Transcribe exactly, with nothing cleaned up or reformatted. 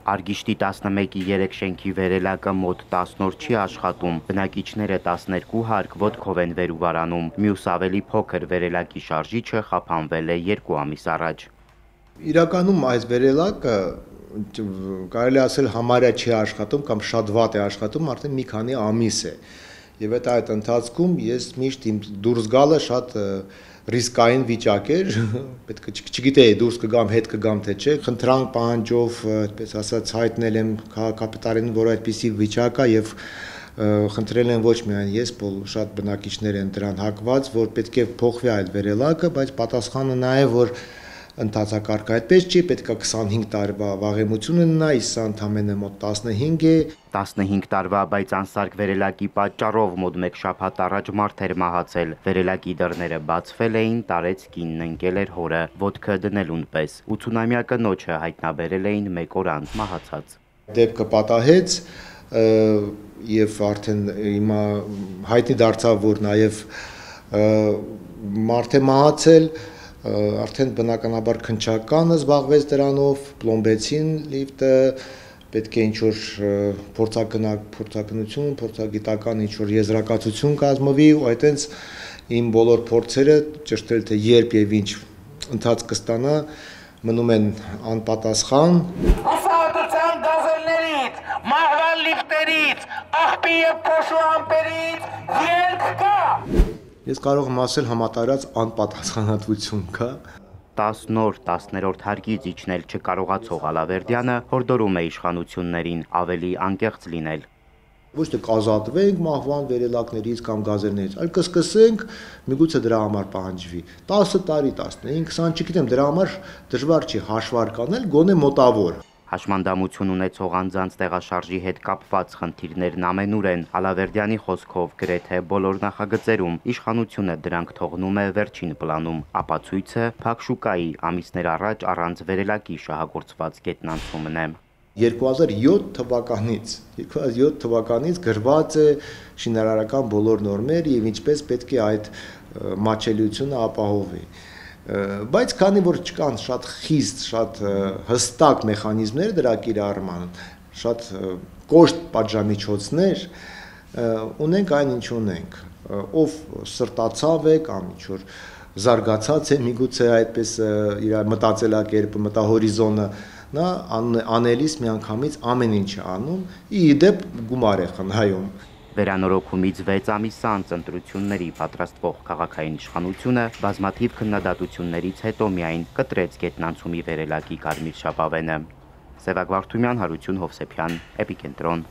Արգիշտի տասնմեկի երեք շենքի վերելակը մոտ տասն օր չի աշխատում, բնակիչները տասներկու հարկ ոտքով են վեր ու վարանում, մյուս ավելի փոքր վերելակի շարժիչը խափանվել է երկու ամիս առաջ։ Իրականում այս վերելակը կարելի ասել համարյա չի աշխատում կամ շատ վատ է աշխատում արդեն մի քանի ամիս է։ Եվ այդ այդ ընթացքում ես միշտ իմ դուրս գալը շատ ռիսկային վիճակ էր, պետք է չգիտեի դուրս կգամ, հետ կգամ թե չէ, խնդրանք պահանջով, այդպես ասած, հայտնել եմ քաղաքապետարանին, որ այդպիսի վիճակ է եւ խնդրել են ոչ միայն ես, շատ բնակիչներ են դրան հակված, որ պետք է փոխվի այդ վերելակը, բայց պատասխանը նա է, որ ընթացակարգը այդպես չի, պետք է քսանհինգ տարվա վաղեմություն ունենա, իսկ սա ընդամենը մոտ տասնհինգ է։ տասնհինգ տարվա, բայց անսարք վերելակի պատճառով մոտ մեկ շաբաթ առաջ մարդ էր մահացել։ Վերելակի դռները բացվել էին, տարեց կինն ընկել էր հորը, ոտքը դնելուն պես։ ութունամյա կնոջը հայտնաբերել էին մեկ օր անց մահացած։ Դեպքը պատահեց եւ արդեն հիմա հայտնի դարձավ, որ նաեւ մարդ է մահացել, արդեն բնականաբար քննչականը զբաղվեց դրանով, պլոմբեցին լիֆտը, պետք է ինչ-որ փորձակնություն, փորձագիտական ինչ-որ եզրակացություն կազմվի, ու այդտենց իմ բոլոր փորձերը ճշտել թե երբ եւ ինչ ընթաց կստանա, մնում են անպատասխան։ Ասատության գազելներից, մահվան լիֆտերից, աղբի եւ փոշու ամպերից ելք կա։ Ես կարող եմ ասել համատարած անպատասխանատվություն կա։ տասն օր տասներորդ հարկից իջնել չկարողացող Ալավերդյանը հորդորում է իշխանություններին ավելի անկեղծ լինել։ Ոչ թե կազատվենք մահվան վերելակներից կամ գազելներից, այլ կսկսենք, միգուցե դրա համար պահանջվի տասը տարի, տասնհինգ, քսան, չգիտեմ, դրա համար դժվար չի հաշվարկ անել, գոնե մոտավոր։ Հաշմանդամություն ունեցող անձանց տեղաշարժի հետ կապված խնդիրներն ամենուր են։ Ալավերդյանի խոսքով գրեթե բոլոր նախագծերում իշխանությունը դրանք թողնում է վերջին պլանում։ Ապացույցը փակ շուկայի ամիսներ առաջ առանց վերելակի շահագործված գետնանցումն է։ երկու հազար յոթ թվականից երկու հազար յոթ թվականից գրված է շինարարական բոլոր նորմեր եւ ինչպես պետք է այդ մատչելիությունը ապահովի։ Բայց քանի որ չկան շատ խիստ, շատ հստակ մեխանիզմներ դրա կիրառման, շատ կոշտ պատժամիջոցներ, ունենք այն ինչ ունենք, ով սրտացավ է կամ ինչ որ զարգացած է, միգուցե այդպես իր մտածելակերպը, մտահորիզոնը, նա անելիս միանգամից ամեն ինչ է անում, ի դեպ գումար է խնայում։ Վերանորոգումից վեց ամիս անց ընտրությունների պատրաստվող քաղաքային իշխանությունը բազմաթիվ քննադատություններից հետո միայն կտրեց գետնանցումի վերելակի կարմիր ժապավենը։ Սևակ Վարդումյան, Հարություն Հովսեփյան, Էպիկենտրոն։